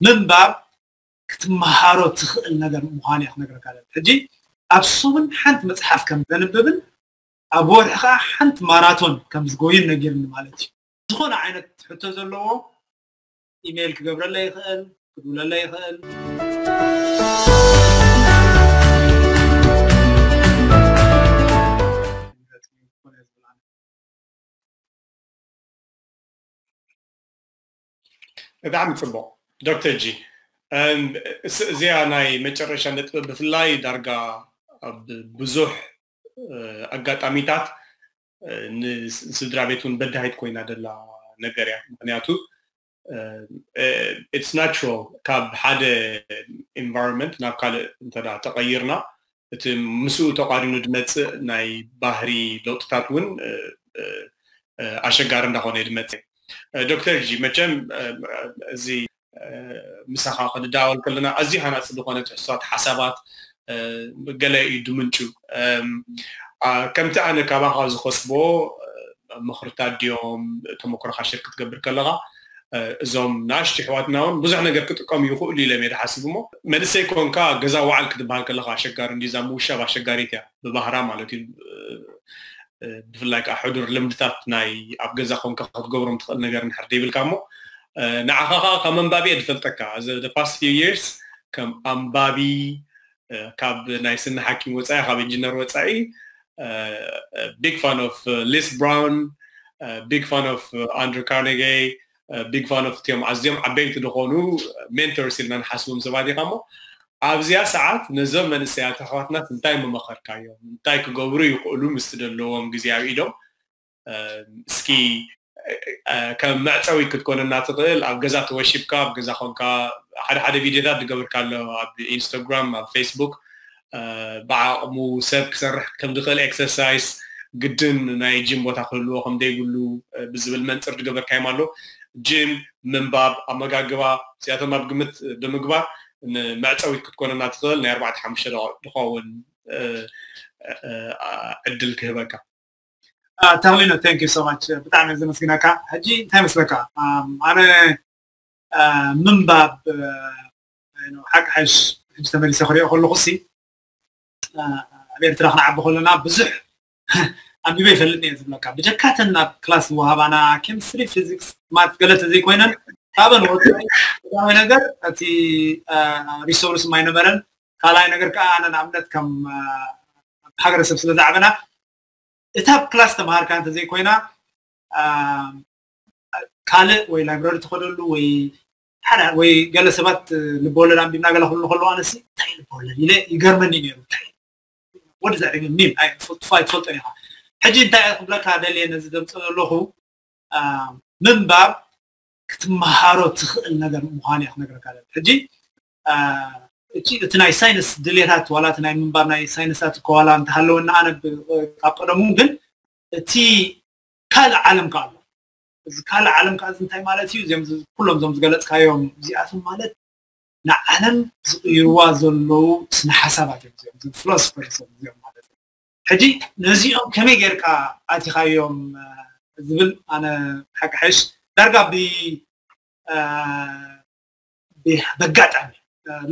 ምንባብ ክትመሃሮ ትኽእል ነገር ምዃኑ እያ ክነግረካ ደሊ። ሕጂ ኣብ ሰሙን ሓንቲ መፅሓፍ ከም ዘንብብን ኣብ ወርሒ ከዓ ሓንቲ ማራቶን ከም ዝጎይን ነጊርኒ ማለት እዩ። ዝኾነ ዓይነት ሕቶ ዘለዎ ኢሜይል ክገብረለይ ይኽእል፣ ክድውለለይ ይኽእል። ብጣዕሚ ፅቡቕ ዶክተር ጂ። እዚኣ ናይ መጨረሻ ነጥቢ ብፍላይ ዳርጋ ኣብ ብዙሕ ኣጋጣሚታት ንስድራ ቤት እውን በዳሂት ኮይና ደላ ነገር እያ። ምክንያቱ it's natural ካብ ሓደ environment ናብ ካልእ እንተ ተቐይርና እቲ ምስኡ ተቋሪኑ ዝመፅእ ናይ ባህሪ ለውጥታት እውን ኣሸጋሪ እንዳኾነ እዩ ዝመፅእ። ዶክተር ጂ መቸም እዚ ምሳኻ ክንዳወል ከለና ኣዝዩ ሃናፂ ዝኾነ ትሕዝቶታት ሓሳባት ገለ እዩ ድምንጩ። ከምቲ ኣነ ካባኻ ዝኸስቦ ምኽርታት ድዮም ተመክሮኻ ሸር ክትገብር ከለኻ እዞም ንኣሽቱ ኣሕዋትና እውን ብዙሕ ነገር ክጥቀሙ ይኽእሉ ኢሎም እየ ዝሓስብ። እሞ መንእሰይ ኮንካ ገዛ ዋዕል ክትበሃል ከለኻ ኣሸጋሪ እንዲ እዛ ምውሻብ ኣሸጋሪት እያ ብባህራ ማለት እዩ። ብፍላይ ከዓ ሕዱር ልምድታት ናይ ኣብ ገዛ ኮንካ ክትገብሮም ትኽእል ነገር እንድሕር ዘይብልካ እሞ ንዓኻ ከዓ ከም ኣንባቢ እየ ዝፈልጠካ። The past few years ከም ኣንባቢ ካብ ናይ ስኒ ሓኪም ወፃኢ ካብ ኢንጂነር ወፃኢ big fan of Les Brown, big fan of Andrew Carnegie, big fan of እቲኦም ኣዝዮም ዓበይቲ ዝኾኑ mentors ኢልና ንሓስቦም ሰባት ኢኻ እሞ ኣብዚኣ ሰዓት ነዞም መንእሰያት ኣሕዋትና እንታይ ምመኸርካዮም? እንታይ ክገብሩ ይኽእሉ ምስቲ ዘለዎም ግዜ ኣብ ኢዶም? እስኪ ከም መዕፀዊ ክትኮነና ትኽእል ኣብ ገዛ ተወሺብካ ኣብ ገዛ ኮንካ ሓደ ሓደ ቪድዮታት ዝገብርካ ኣሎ ኣብ ኢንስታግራም ኣብ ፌስቡክ ብዓቕሙ ሰብ ክሰርሕ ከም ዝኽእል ኤክሰርሳይስ ግድን ናይ ጂም ቦታ ክህልዎ ከም ዘይብሉ ብዝብል መንፅር ዝገበርካዮም ኣሎ። ጂም፣ ምንባብ፣ ኣመጋግባ እዚኣቶም ኣብ ግምት ብምግባር ንመዕፀዊት ክትኮነና ትኽእል ናይ ኣርባዕተ ሓሙሽተ ደቂቕ ዝኸውን ዕድል ክህበካ። ተኽሊኖ thank you so much ብጣዕሚ ዘመስግነካ። ሕጂ እንታይ መስለካ ኣነ ምንባብ ሓቂ ሓሽ ሕጂ ተመሊሰ ክሪኦ ከለኹ ሲ ኣብ ኤርትራ ክንዓቢ ከለና ብዙሕ ኣንቢበ ይፈልጥ እየ ዝብለካ። ብጀካተን ኣብ ክላስ ዝወሃባና ኬሚስትሪ፣ ፊዚክስ፣ ማት ገለ ተዘይኮይነን ካብን ወፃኢ ቀዳማይ ነገር እቲ ሪሶርስ ማይነበረን ካልኣይ ነገር ከዓ ኣነ ንኣብነት ከም ሃገረሰብ ስለ ዝዓበና እታ ኣብ ክላስ ተምሃርካ እንተዘይኮይና ካልእ ወይ ላይብረሪ ትኸደሉ ወይ ሓደ ወይ ገለ ሰባት ልበወለድ ኣንቢብና ገለ ክብሉ ከለዉ ኣነሲ እንታይ ልበወለድ ኢለ ይገርመኒ ነይሩ እንታይ ወዲ ዘዕግብ ሚም ኣይትፈልጦን ኢኻ ሕጂ እንታይ ክብለካ ደልየ ነዚ ዘምፅእ ዘለኹ ምንባብ ክትመሃሮ ትኽእል ነገር ምዃን እያ ክነግረካ ደል ሕጂ እቲ ናይ ሳይንስ ድሌታት ዋላ እቲ ናይ ምንባብ ናይ ሳይንሳት እኮ ዋላ እንተሃለወና ኣነ ካብ ቀደሙ ግን እቲ ካልእ ዓለም ከ ኣሎ እዚ ካልእ ዓለም ከ እዚ እንታይ ማለት እዩ እዚኦም ኩሎም እዞም ዝገለፅካዮም እዚኣቶም ማለት ንዓለም ዝቕይርዋ ዘለዉ ስነ ሓሳባት እዮም እዚኦም ፊሎሶፈርስ እዮም እዚኦም ማለት እዩ ሕጂ ነዚኦም ከመይ ጌርካ ኣቲኻዮም ዝብል ኣነ ሓቂ ሓይሽ ዳርጋ ብ በጋጣሚ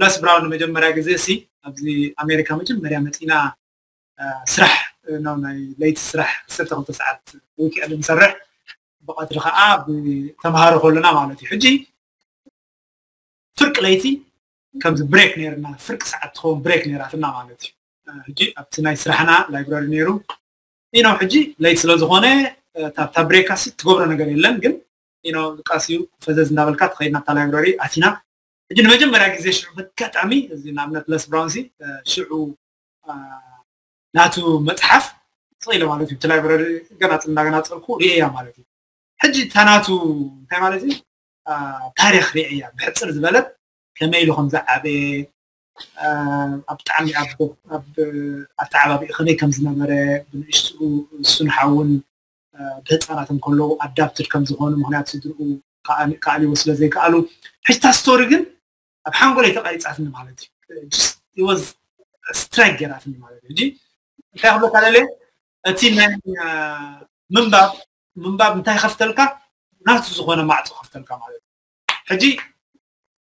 ለስ ብራውን ንመጀመርያ ግዜ ሲ ኣብዚ ኣሜሪካ መጀመርያ መፂና ስራሕ ናይ ለይቲ ስራሕ ዓሰርተ ክልተ ሰዓት ዊክኤንድ ንሰርሕ ብቐትሪ ከዓ ብተምሃሮ ከለና ማለት እዩ ሕጂ ፍርቂ ለይቲ ከምዚ ብሬክ ነይርና ፍርቂ ሰዓት ትኸውን ብሬክ ነይራትና ማለት እዩ ሕጂ ኣብቲ ናይ ስራሕና ላይብራሪ ነይሩ ኢኖ ሕጂ ለይቲ ስለ ዝኾነ ታብታ ብሬካ ሲ ትገብሮ ነገር የለን ግን ኢኖ ቃሲዩ ፈዘዝ እንዳበልካ ትኸይድ ናብታ ላይብራሪ ኣቲና ሕጂ ንመጀመርያ ግዜ ሽዑ በጋጣሚ እዚ ንኣብነት ለስ ብራውን ሲ ሽዑ ናቱ መፅሓፍ ስቕ ኢለ ማለት እዩ እቲ ላይብራሪ ገናፅል እንዳገናፀልኩ ርእየያ ማለት እዩ ሕጂ እታ ናቱ እንታይ ማለት እዩ ታሪክ ርእየያ ብሕፅር ዝበለት ከመይ ኢሉ ከም ዝዓበየ ኣብ ብጣዕሚ ኣብ ኣተዓባቢኡ ከመይ ከም ዝነበረ ብንእሽትኡ እሱን ሓውን ብህፃናት እንከለዉ ኣዳፕትድ ከም ዝኾኑ ምክንያት ስድርኡ ክኣልዎ ስለ ዘይከኣሉ ሕጅታ ስቶሪ ግን ኣብ ሓንጎለይ ተቐሪፃትኒ ማለት እዩ ወዝ ስትራይክ ገይራትኒ ማለት እዩ ሕጂ እንታይ ክብለካ ደልየ እቲ ናይ ምንባብ ምንባብ እንታይ ከፍተልካ ናቱ ዝኾነ ማዕፆ ከፍተልካ ማለት እዩ ሕጂ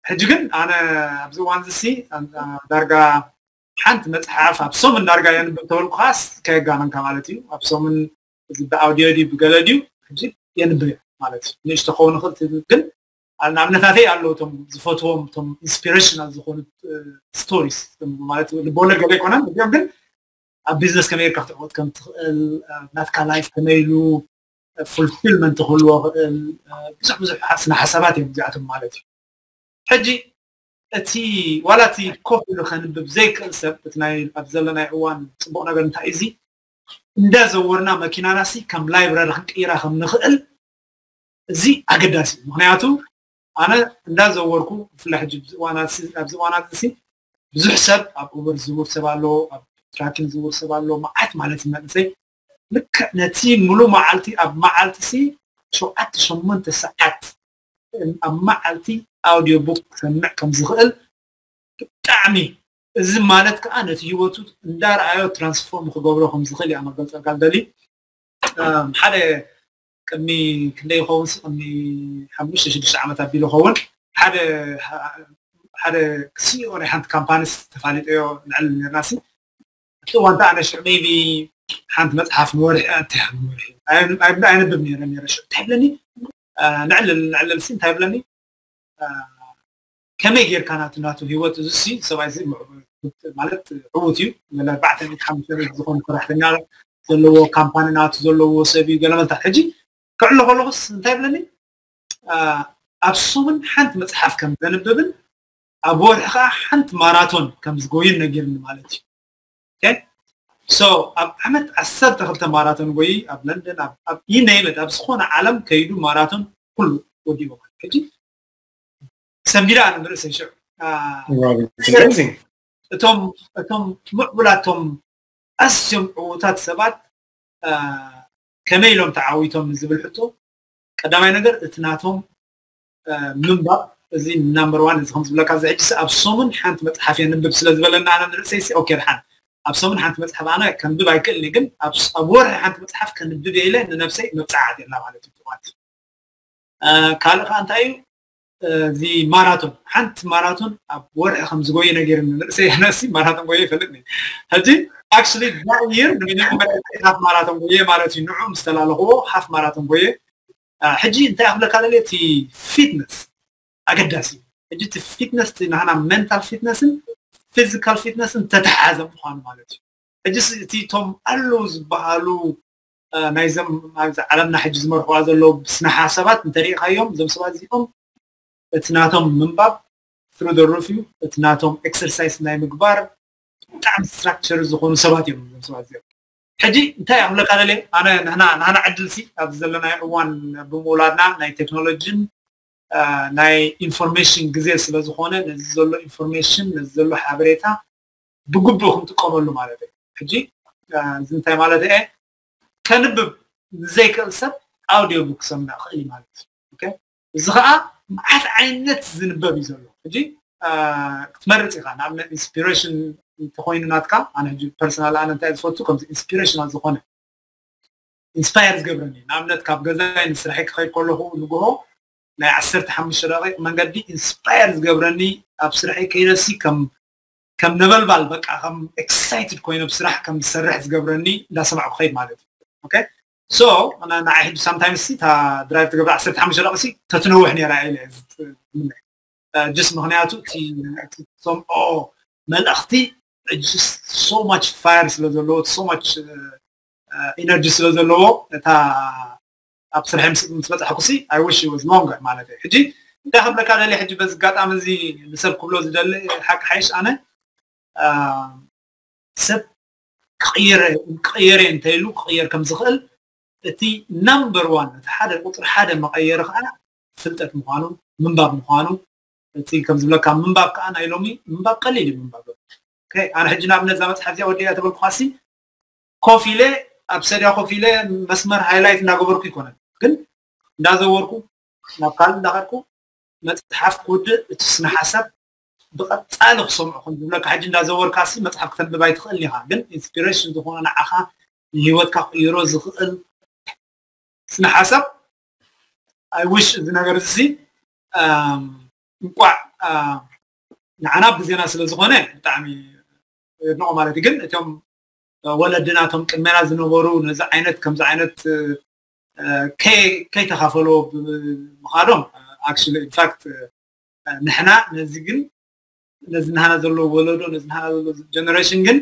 ሕጂ ግን ኣነ ኣብዚ እዋን እዚ ዳርጋ ሓንቲ መፅሓፍ ኣብ ሰሙን ዳርጋ የንብብ ተበልኩ ከዓስ ከየጋነንካ ማለት እዩ። ኣብ ሰሙን እዚ ብኣውዲዮ ድዩ ብገለ ድዩ ሕጂ የንብብ ማለት እዩ። ንእሽቶ ክኸውን ይኽእል ግን ንኣብነታተይ ኣለዉ እቶም ዝፈትዎም እቶም ኢንስፒሬሽናል ዝኾኑ ስቶሪስ ማለት ልቦለድ ገለ ኣይኮነን እዚኦም ግን ኣብ ቢዝነስ ከመይ ጌርካ ክትዕወት ከም ትኽእል ናትካ ላይፍ ከመይ ኢሉ ፉልፊልመንት ክህልዎ ክእል ብዙሕ ብዙሕ ስነ ሓሳባት እዮም እዚኣቶም ማለት እዩ። ሕጂ እቲ ዋላ እቲ ኮፍ ኢሉ ከንብብ ዘይክእል ሰብ እቲ ናይ ኣብ ዘለናይ እዋን ፅቡቕ ነገር እንታይ እዚ እንዳዘወርና መኪናና ሲ ከም ላይብረሪ ክንቅይራ ከም ንኽእል እዚ ኣገዳሲ እዩ። ምክንያቱ ኣነ እንዳዘወርኩ ብፍላይ ሕጂ ኣብዚ እዋናት እዚ ብዙሕ ሰብ ኣብ ኡበር ዝዝውር ሰብ ኣሎ፣ ኣብ ትራኪን ዝዝውር ሰብ ኣሎ፣ መዓት ማለት እዩ መንእሰይ ልክዕ ነቲ ሙሉ መዓልቲ ኣብ መዓልቲ ሲ ሸውዓተ ሸሞንተ ሰዓት ኣብ መዓልቲ ኣውዲዮ ቡክ ክሰምዕ ከም ዝኽእል ብጣዕሚ እዚ ማለት ከዓ ነቲ ህይወቱ እንዳረኣዮ ትራንስፎርም ክገብሮ ከም ዝኽእል እያ መገልፀልካ ልደሊ ሓደ ቅድሚ ክንደይ ይኸውን ቅድሚ ሓሙሽተ ሽዱሽተ ዓመት ኣቢሉ ይኸውን ሓደ ሓደ ሲኦ ናይ ሓንቲ ካምፓኒስ ተፋሊጠዮ ንዕል ነርና ሲ እቲ እዋን ኣነ ሽዑ ሜቢ ሓንቲ መፅሓፍ ንወርሒ ንወርሒ ኣይንብብ ነረ ነረ ሽዑ እንታይ ብለኒ ንዕልል ንዕልል ሲ እንታይ ብለኒ ከመይ ጌርካ ናቱ ናቱ ህይወት እዚ ሲ ሰብኣይ እዚ ማለት ዕዉት እዩ ገለ ኣርባዕተ ሚእቲ ሓሙሽተ ሚእቲ ዝኾኑ ሰራሕተኛ ዘለዎ ካምፓኒ ናቱ ዘለዎ ሰብ እዩ ገለ መልታት ሕጂ ክዕሎ ከለኹስ እንታይ ብለኒ ኣብ ሰሙን ሓንቲ መፅሓፍ ከም ዘንብብን ኣብ ወርሒ ከዓ ሓንቲ ማራቶን ከም ዝጎይን ነጊርኒ ማለት እዩ ሶ ኣብ ዓመት ዓሰርተ ክልተ ማራቶን ጎይ ኣብ ለንደን ይነይመድ ኣብ ዝኾነ ዓለም ከይዱ ማራቶን ኩሉ ወዲዎ ማለት ሕጂ ሰንቢዳ ኣነ ንርእሰይ ሽዑ እቶም እቶም ምዕቡላቶም ኣዝዮም ዕዉታት ሰባት ከመይ ኢሎም ተዓዊቶም ዝብል ሕቶ ቀዳማይ ነገር እቲ ናቶም ምንባብ እዚ ናምበር ዋን እዚ ከም ዝብለካ እዚ ሕጂ ኣብ ሰሙን ሓንቲ መፅሓፍ የንብብ ስለ ዝበለና ኣነ ንርእሰይ ሲ ኦኬ ድሓን ኣብ ሰሙን ሓንቲ መፅሓፍ ኣነ ከንብብ ኣይክእልኒ ግን ኣብ ወርሒ ሓንቲ መፅሓፍ ከንብብ ኢለ ንነብሰይ መብፃዓት የላ ማለት እዩ ማለት ካልእ ከዓ እንታይ እዩ እዚ ማራቶን ሓንቲ ማራቶን ኣብ ወርሒ ከም ዝጎየ ነጊርኒ ንርእሰይ ኣነሲ ማራቶን ጎየ ይፈልጥኒ ሕጂ actually that year ንሚኒመም ሓፍ ማራቶን ጎየ ማለት እዩ ንዑ ምስ ተላለኽዎ ሓፍ ማራቶን ጎየ ሕጂ እንታይ ክብለካ ደልየ እቲ ፊትነስ ኣገዳሲ እዩ ሕጂ እቲ ፊትነስ ናህና ሜንታል ፊትነስን ፊዚካል ፊትነስን ተተሓዘ ምኳኑ ማለት እዩ ሕጂ እቲ እቶም ኣለዉ ዝበሃሉ ናይዞም ኣብዚ ዓለምና ሕጂ ዝመርሕዋ ዘለዉ ስነ ሓሳባት እንተሪኢኻዮም እዞም ሰባት እዚኦም እቲ ናቶም ምንባብ through the roof እዩ እቲ ናቶም ኤክሰርሳይስ ናይ ምግባር ብጣዕሚ ስትራክቸር ዝኾኑ ሰባት እዮም እዞም ሰባት እዚኦም ሕጂ እንታይ ክብለካ ደልየ ኣነ ንሕና ንሕና ዕድል ሲ ኣብዚ ዘለናዮ እዋን ብምውላድና ናይ ቴክኖሎጂን ናይ ኢንፎርሜሽን ግዜ ስለ ዝኾነ ነዚ ዘሎ ኢንፎርሜሽን ነዚ ዘሎ ሓበሬታ ብግቡእ ክንጥቀመሉ ማለት እዩ ሕጂ እዚ እንታይ ማለት እየ ከንብብ ንዘይክእል ሰብ ኣውዲዮ ቡክ ክሰምዕ ክእል እዩ ማለት እዩ እዚ ከዓ መዓት ዓይነት ዝንበብ እዩ ዘሎ ሕጂ ክትመርፅ ኢኻ ንኣብነት ኢንስፒሬሽን እንተኮይኑ ናትካ ኣነ ሕጂ ፐርሰናል ኣነ እንታይ ዝፈቱ ከምዚ ኢንስፒሬሽናል ዝኾነ ኢንስፓየር ዝገብረኒ ንኣብነት ካብ ገዛይ ንስራሐይ ክኸይድ ከለኹ ንግሆ ናይ ዓሰርተ ሓሙሽተ ደቂቕ መንገዲ ኢንስፓየር ዝገብረኒ ኣብ ስራሐይ ከይደሲ ከም ከም ነበልባል በቃ ከም ኤክሳይትድ ኮይነ ብስራሕ ከም ዝሰርሕ ዝገብረኒ እንዳሰማዕኩ ከይድ ማለት እዩ ኦኬ ሶ ንዓይ ሕጂ ሳምታይምስ ሲ እታ ድራይቭ ትገብር ዓሰርተ ሓሙሽተ ደቂሲ ተትነውሕ ነራ ኢለ ጅስ ምክንያቱ እቲ ሰምዖ መልእኽቲ so much fire ስለ ዘለዎ so much ኢነርጂ ስለ ዘለዎ እታ ኣብ ስርሐ ምስ በፃሕኩ ሲ I wish it was longer ማለት እዩ ሕጂ እንታይ ክብለካ ደሊ ሕጂ በዚ ኣጋጣሚ እዚ ንሰብ ክብሎ ዝደሊ ሓቂ ሓይሽ ኣነ ሰብ ክቕየር ክቕየር እንተኢሉ ክቕየር ከም ዝኽእል እቲ ናምበር ዋን እቲ ሓደ ቁፅሪ ሓደ መቐየሪ ከዓ ፍልጠት ምዃኑ ምንባብ ምዃኑ እቲ ከም ዝብለካ ምንባብ ከዓ ናይ ሎሚ ምንባብ ቀሊል እዩ ምንባብ ኣነ ሕጂ ንኣብነት እዛ መፅሓፍ እዚኣ ወዲያ ተበልኩኻሲ ኮፍ ኢለ ኣብ ሰድያ ኮፍ ኢለ መስመር ሃይላይት እናገበርኩ ይኮነን ግን እንዳዘወርኩ ናብ ካልእ እንዳኸድኩ መፅሓፍ ክውድእ እቲ ስነ ሓሳብ ብቐፃሊ ክሰምዑ ከም ዝብለካ ሕጂ እንዳዘወርካ ሲ መፅሓፍ ክተንብብ ኣይትኽእል ኢኻ ግን ኢንስፒሬሽን ዝኾነ ንዓኻ ንሂወትካ ክቅይሮ ዝኽእል ስነ ሓሳብ I wish እዚ ነገር እዚ እንቋዕ ንዓና ብዜና ስለ ዝኾነ ብጣዕሚ የድንቖ ማለት እዩ። ግን እቶም ወለድና እቶም ቅድሜና ዝነበሩ ነዚ ዓይነት ከምዚ ዓይነት ከይተኻፈሎ ብምኻዶም actually in fact ንሕና ነዚ ግን ነዚ ናህና ዘሎ ወለዶ ነዚ ናህና ዘሎ generation ግን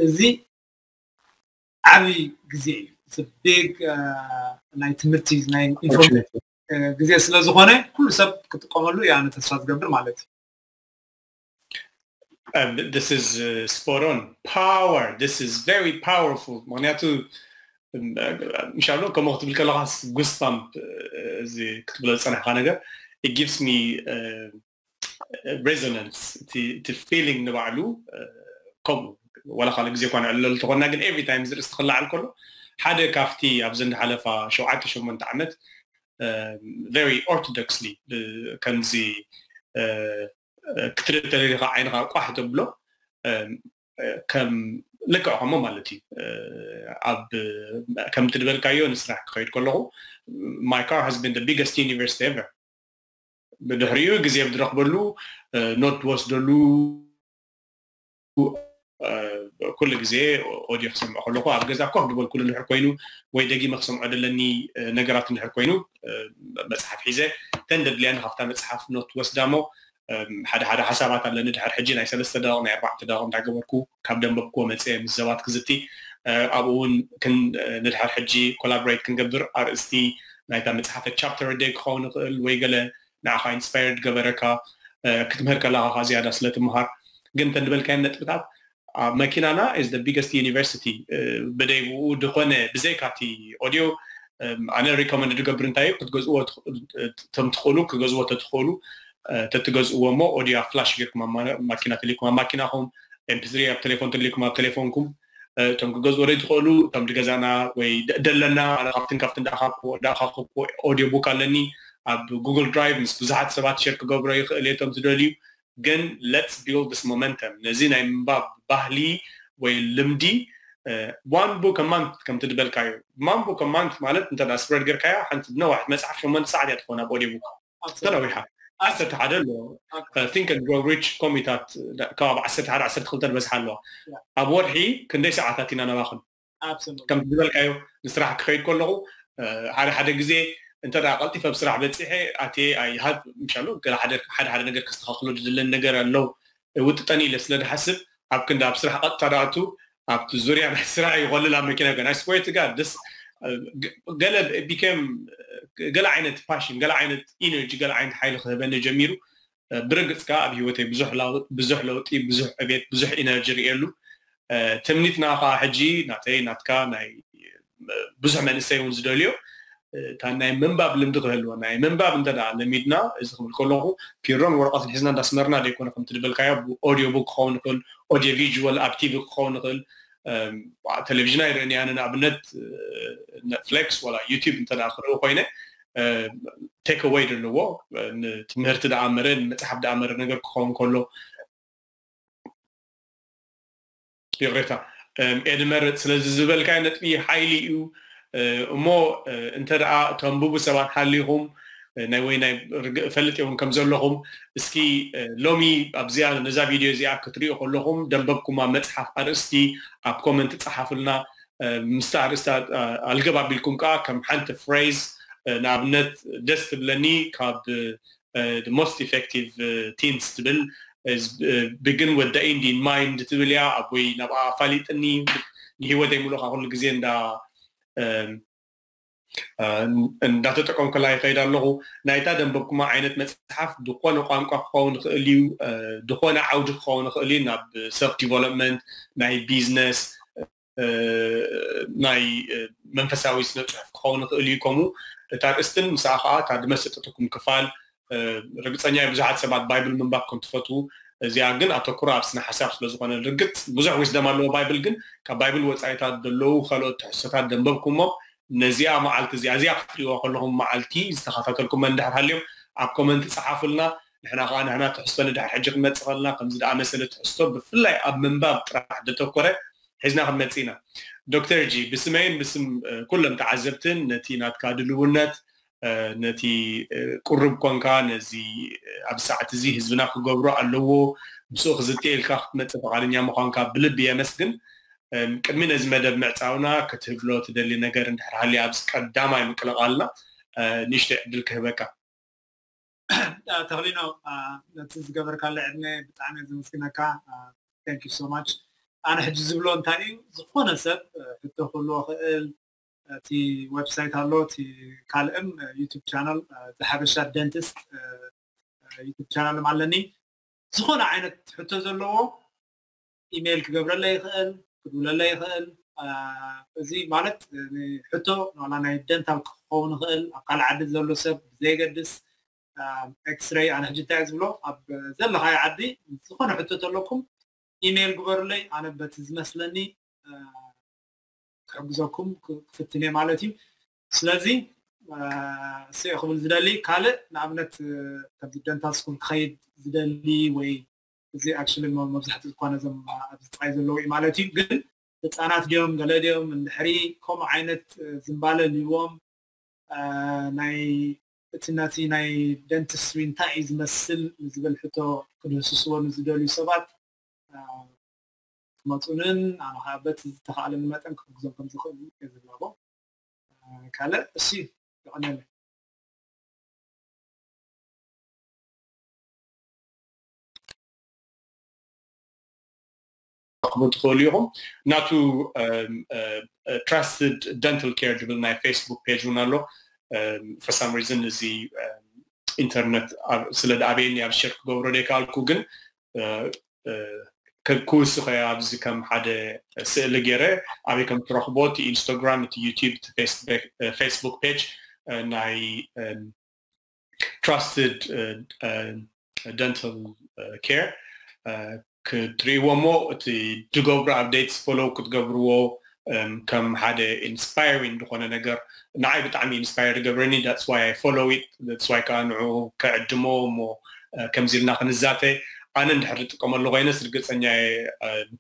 እዚ ዓብይ ግዜ እዩ። It's a big ናይ ትምህርቲ ናይ information ግዜ ስለ ዝኾነ ኩሉ ሰብ ክጥቀመሉ እየ ኣነ ተስፋ ዝገብር ማለት እዩ። This is spot on. Power. This is very powerful. ምክንያቱ ምሻሎ ከምኡ ክትብል ከለካ goosebump እዚ ክትብሎ ዝፀናሕካ ነገር it gives me resonance እቲ feeling ንባዕሉ ከምኡ ዋላ ካልእ ግዜ እኳ ንዕለሉ ተኾንና ግን every time ዝርእስ ትኽላዓል ከሎ ሓደ ካብቲ ኣብዚ እንዳሓለፋ ሸውዓተ ሸሞንተ ዓመት very orthodoxly ከምዚ ክትርኢ ተደሊኻ ዓይንኻ ቋሕ ተብሎ ከም ልክዕ ከምኡ ማለት እዩ ኣብ ከምቲ ዝበልካዮ ንስራሕ ክኸይድ ከለኹ my car has been the biggest university ever ብድሕሪኡ ግዜ ብድረኽበሉ ኖት ወስደሉ ኩሉ ግዜ ኦዲዮ ክሰምዖ ከለኹ ኣብ ገዛ ኮፍ ዝበልኩሉ እንድሕር ኮይኑ ወይ ደጊመ ክሰምዖ ደለኒ ነገራት እንድሕር ኮይኑ መፅሓፍ ሒዘ ተን ደድልያኒ ካብታ መፅሓፍ ኖት ወስዳ እሞ ሓደ ሓደ ሓሳባት ኣለኒ ድሕር ሕጂ ናይ ሰለስተ ደቂቕ ናይ ኣርባዕተ ደቂቕ እንዳገበርኩ ካብ ደንበብክዎ መፅየ ምስ ሰባት ክዝቲ ኣብኡ እውን ንድሕር ሕጂ collaborate ክንገብር ኣርእስቲ ናይታ መፅሓፈ chapter a day ክኸውን ይኽእል ወይ ገለ ንዓኻ inspired ገበረካ ክትምህር ከለኻ ዝያዳ ስለ ትምሃር ግን ተንድበልካየን ነጥብታት መኪናና is the biggest university ብደይብኡ ድኾነ ብዘይካቲ ኦዲዮ ኣነ recommend ዝገብር እንታይ እዩ ክትገዝእዎ ቶም ትኽእሉ ክገዝዎ ተትኽእሉ ተትገዝእዎ እሞ ኦዲዮ ኣብ flash ጌርኩም ማኪና ተልይኩም ኣብ ማኪናኹም mp3 ኣብ ቴሌፎን ተልይኩም ኣብ ቴሌፎንኩም እቶም ክገዝእዎ ደይ ትኽእሉ እቶም ድገዛና ወይ ደለና ኣነ ካብትን ካብትን ዳኣኻክብዎ audio book ኣለኒ ኣብ Google Drive ምስ ብዙሓት ሰባት share ክገብሮ ይኽእል እየ እቶም ትደልዩ ግን let's build this momentum ነዚ ናይ ምንባብ ባህሊ ወይ ልምዲ one book a month ከም ትድበልካዮ one book a month ማለት እንተ spread ጌርካያ ሓንቲ ነዋሕት መፅሓፍ ሸሞንተ ሰዓት እያ ትኾን ኣብ audio book ተነዊሓ ዓሰርተ ሓደ ኣለዎ Think and Grow Rich ኮሚታት ካብ ዓሰርተ ሓደ ዓሰርተ ክልተ ዝበዝሓ ኣለዋ ኣብ ወርሒ ክንደይ ሰዓታት ኢና ነባኽን ከም ዝበልካዮ ንስራሕ ክኸይድ ከለኹ ሓደ ሓደ ግዜ እንተ ቀልጢፈ ኣብ ስራሕ በፂሐ ኣትየ ኣይሃብ ምሻሉ ሓደ ሓደ ነገር ከስተኻክሎ ዝድለኒ ነገር ኣሎ ውጥጠን ኢለ ስለ ዝሓስብ ኣብ ክንዲ ኣብ ስራሕ ቀጥታ ዳኣቱ ኣብቲ ዙርያ ናይ ስራሕ ይኮልል ኣብ መኪና ገና ስፖርት ጋር ደስ ገለ ቢከም ገለ ዓይነት ፓሽን ገለ ዓይነት ኢነርጂ ገለ ዓይነት ሓይሊ ክህበኒ ጀሚሩ ብርግፅ ከዓ ኣብ ህይወተይ ብዙሕ ለውጢ ብዙሕ ዕቤት ብዙሕ ኢነርጂ ርእየሉ ትምኒትና ከዓ ሕጂ ናተይ ናትካ ናይ ብዙሕ መንእሰይ እውን ዝደልዮ እታ ናይ ምንባብ ልምዲ ክህልወና እዩ ምንባብ እንተ ለሚድና እዚ ክብል ከለኹ ፒሮን ወረቐትን ሒዝና እንዳስመርና ዘይኮነ ከምቲ ዝበልካዮ audio book ክኸውን ይኽእል audio visual ኣብ ቲቪ ክኸውን ይኽእል ቴሌቪዥን ኣይርእን እያ ንኣብነት Netflix ወላ YouTube እንተ ክርኢ ኮይነ take away ዘለዎ ንትምህርቲ ደኣመረ ንመፅሓፍ ደኣመረ ነገር ክኸውን ከሎ ይቕሬታ ኤድመር ስለዚ ዝበልካዮ ነጥቢ ሓይሊ እዩ እሞ እንተ ደኣ ተንብቡ ሰባት ሃሊኹም ናይ ወይ ናይ ርግእ እፈልጥ እውን ከም ዘለኹም እስኪ ሎሚ ኣብዚኣ ነዛ ቪድዮ እዚኣ ክትሪኦ ከለኹም ደንበብኩማ መፅሓፍ ኣርእስቲ ኣብ ኮመንት ፀሓፍልና ምስቲ ኣርእስቲ ኣልገብ ኣቢልኩም ከዓ ከም ሓንቲ ፍሬዝ ንኣብነት ደስ ትብለኒ ካብ most effective teens ትብል begin with the end in mind ትብል እያ ኣቦይ ናብኣ ኣፋሊጥኒ ንሂወተይ ሙሉእ ኩሉ ግዜ እንዳ እንዳተጠቀምኩላ ይኸይድ ኣለኹ ናይታ ደንበብኩማ ዓይነት መፅሓፍ ዝኾነ ቋንቋ ክኸውን ይኽእል እዩ ዝኾነ ዓውዲ ክኸውን ይኽእል እዩ ናብ self development ናይ ቢዝነስ ናይ መንፈሳዊ ስነ ፅሑፍ ክኸውን ይኽእል እዩ ከምኡ እታ ርእስትን ምስኣ ከዓ እታ ዝመሰጠትኩም ክፋል ርግፀኛ ብዙሓት ሰባት ባይብል ምንባብ ከም ትፈትዉ እዚኣ ግን ኣተኩሮ ኣብ ስነ ሓሳብ ስለ ዝኾነ ርግፅ ብዙሕ ዊስደም ኣለዎ ባይብል ግን ካብ ባይብል ወፃኢታት ዘለዉ ካልኦት ትሕዝቶታት ደንበብኩሞ ነዚኣ መዓልቲ እዚኣ እዚኣ ክትሪእዋ ከለኹም መዓልቲ ዝተኸታተልኩም እንድሕር ሃልዮም ኣብ ኮመንት ፀሓፉልና ንሕና ከዓ ንሕና ትሕዝቶ ንድሕር ሕጂ ክንመፅእ ከለና ከምዚ ደኣ መሰለ ትሕዝቶ ብፍላይ ኣብ ምንባብ ጥራሕ ዘተኮረ ሒዝና ክንመፅእ ኢና ዶክተር ጂ ብስመይን ብስም ኩሎም ተዓዘብትን ነቲ ናትካ ድልውነት ነቲ ቁሩብ ኮንካ ነዚ ኣብዚ ሰዓት እዚ ህዝብና ክገብሮ ኣለዎ፣ ምስኡ ክዝትየ ኢልካ ክትመጽእ ፍቓደኛ ምዃንካ ብልቢ የመስግን። ቅድሚ ነዚ መደብ ምዕጻውና ክትህብሎ ትደሊ ነገር እንድሕር ሃልዩ ኣብዚ ቀዳማይ ምቅልቓልና ንእሽተይ ዕድል ክህበካ። ተኽሊኖ፣ ነቲ ዝገበርካለ ዕድመ ብጣዕሚ እየ ዘመስግነካ። Thank you so much። ኣነ ሕጂ ዝብሎ እንታይ እዩ፣ ዝኾነ ሰብ ሕቶ ክህልዎ ክእል፣ እቲ ዌብሳይት ኣሎ፣ እቲ ካልእም ዩቱብ ቻናል፣ ዘሓበሻ ደንቲስት ዩቱብ ቻናልም ኣለኒ። ዝኾነ ዓይነት ሕቶ ዘለዎ ኢሜይል ክገብረለይ ይኽእል፣ ክድውለለይ ይኽእል። እዚ ማለት ሕቶ ዋላ ናይ ደንታል ክኸውን ይኽእል፣ ኣብ ካልእ ዓዲ ዘሎ ሰብ ብዘየገድስ፣ ኤክስሬይ፣ ኣነ ሕጂ እንታይ ዝብሎ፣ ኣብ ዘለኻዮ ዓዲ ዝኾነ ሕቶ ተለኩም ኢሜይል ግበሩለይ፣ ኣነ በቲ ዝመስለኒ ክሕግዘኩም ክፍትን እየ ማለት እዩ። ስለዚ እሱ ክብል ዝደሊ ካልእ፣ ንኣብነት ከምዚ ደንታል ስኩል ክኸይድ ዝደሊ ወይ፣ እዚ ኣክቹሊ መብዛሕትኡ ዝኾነ እዞም ኣብዚ ጥራይ ዘለዉ እዩ ማለት እዩ። ግን ህፃናት ድዮም ገለ ድዮም እንድሕሪ ከምኡ ዓይነት ዝንባለ ልዎም ናይ እቲ ነቲ ናይ ደንቲስትሪ እንታይ እዩ ዝመስል ንዝብል ሕቶ ክድህስስዎ ንዝደልዩ ሰባት ክመፁንን ኣነ ከዓ በቲ ዝተኻእለኒ መጠን ክሕግዞም ከም ዝኽእል እየ ዝላቦ። ካልእ እሱ ይቐነለ። ክትረኽቡ ትኽእሉ ኢኹም። ናቱ ትራስትድ ደንታል ኬር ዝብል ናይ ፌስቡክ ፔጅ እውን ኣሎ። For some reason እዚ ኢንተርነት ስለ ዝኣበየኒ ኣብ ሸር ክገብሮ ዘይከኣልኩ፣ ግን ክውስኸ ኣብዚ ከም ሓደ ስእሊ ገይረ ኣበይ ከም ትረኽቦ፣ እቲ ኢንስታግራም፣ እቲ ዩቲዩብ፣ እቲ ፌስቡክ ፔጅ ናይ ትራስትድ ደንታል ኬር ክትርእይዎ እሞ እቲ ዝገብሩ ኣፕዴትስ ፎሎው ክትገብርዎ ከም ሓደ ኢንስፓይሪንግ ዝኾነ ነገር ንዓይ ብጣዕሚ ኢንስፓየር ይገብረኒ። That's why I follow it, that's why ከዓ ንዑ ከዕድሞ እሞ ከምዚ ኢልና ክንዛተ። ኣነ እንድሕር ዝጥቀመሉ ኮይነስ ርግፀኛ እየ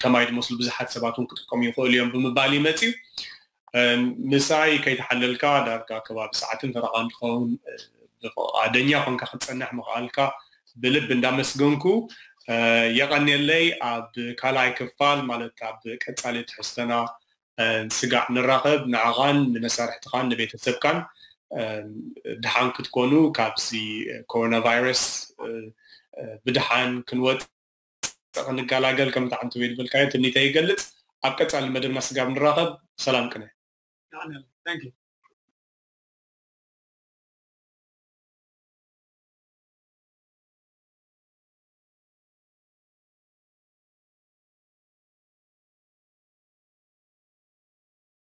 ከማይ ዝመስሉ ብዙሓት ሰባት እውን ክጥቀሙ ይኽእሉ እዮም ብምባል ይመፅዩ። ምሳይ ከይተሓለልካ ዳርጋ ከባቢ ሰዓትን ፈረቓ እንትኸውን ብፍቓደኛ ኮንካ ክትፀንሕ ምኽኣልካ ብልቢ እንዳመስገንኩ የቐንየለይ። ኣብ ካልኣይ ክፋል ማለት ኣብ ቀፃሊ ትሕዝቶና ስጋዕ ንራኸብ። ንዓኻን ንመሳርሕትኻን ንቤተሰብካን ድሓን ክትኮኑ፣ ካብዚ ኮሮና ቫይረስ ብድሓን ክንወፅእ ክንገላገል ከምቲ ዓንተቦይ ዝበልካዮ ትምኒተይ ይገልፅ። ኣብ ቀፃሊ መደብና ስጋብ ንራኸብ ሰላም ቅነ። Thank you።